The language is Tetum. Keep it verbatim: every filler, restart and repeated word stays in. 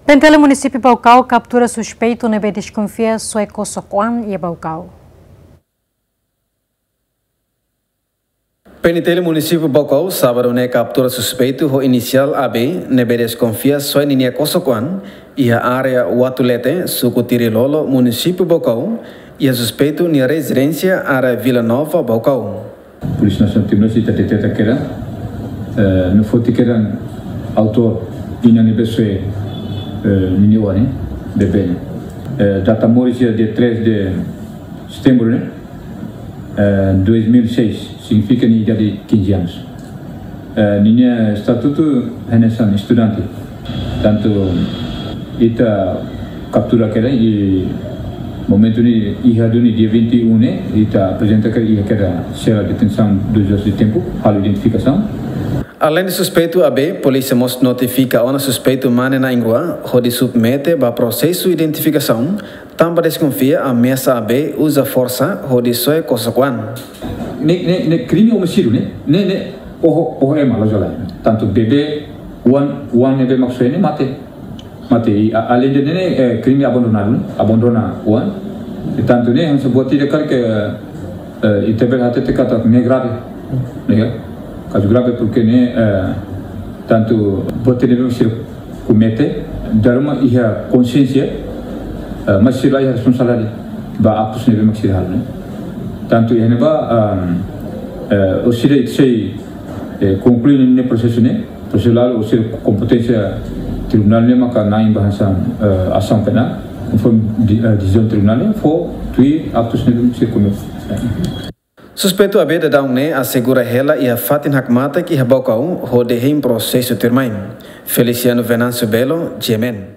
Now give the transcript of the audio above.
PNTL Munisípiu Baucau kaptura suspeitu ne'ebé deskonfia soe kosok-oan iha Baucau. PNTL Munisípiu Baucau sábadu ne'e kaptura suspeitu ho inisiál A B ne'ebé deskonfia soe ninia kosok-oan iha área Watulete, suku Tirilolo, Munisípiu Baucau, iha suspeitu nia rezidénsia, área Vila Nova, Baucau. Polísia Nasionál Timor-Leste ita deteta kedas, eh, no foti kedas autór inan ne'ebé soe, eh, ninia oan ne'e, bebé ne'e. Eh, data moris iha dia três de setembro ne'e, eh, dois mil e seis, signifika nia idade quinze anos. Eh, ninia estatutu hanesan estudante. Tantu ita kaptura kedas iha momentu ne'e, iha duni dia vinte e um ne'e, ita aprezenta kedas iha kedas sela detensaun doze horas de tempu, halo identifikasaun. Aleinde suspeitu A B, polísia mós notifika ona suspeitu mane na'in-rua, hodi submete ba prosesu identifikasaun, tanba deskonfia ameasa A B uza forsa hodi soe kosok-oan. Ne'e, ne'e, ne'e krime omisidiu ne'e, ne'e, ne'e oho, oho ema loos lai. Tantu bebé, oan, oan ne'ebé mak soe ne'e mate. Mate, i a-, aleinde ne'e, eh, krime abandonadu, abandona oan. I tantu ne'e, hanesan buat ida karik, eh, ita bele hatete katak ne'e grave. Ne'e, kazu grave porke ne'e, eh, tantu buat ida ne'ebé sira komete, dala ruma iha konsiénsia, eh, mas sira la iha responsabilidade ba aktus ne'ebé mak sira halo ne'e. Tantu iha ne'ebá, ehm, eh, orsida ita sei, eh, konklui ne'e prosesu ne'e, prosesu lalu orsida kompeténsia tribunál ne'e maka na'in ba hanesan, eh, asaun penál, konforme di-, eh, desizaun tribunál ne'e, fó tuir aktus ne'ebé sira komete. Suspeitu A B daudaun ne'e asegura hela iha fatin hakmatek iha Baucau hodi hein prosesu tuirmai. Feliciano Venâncio Belo, G M N.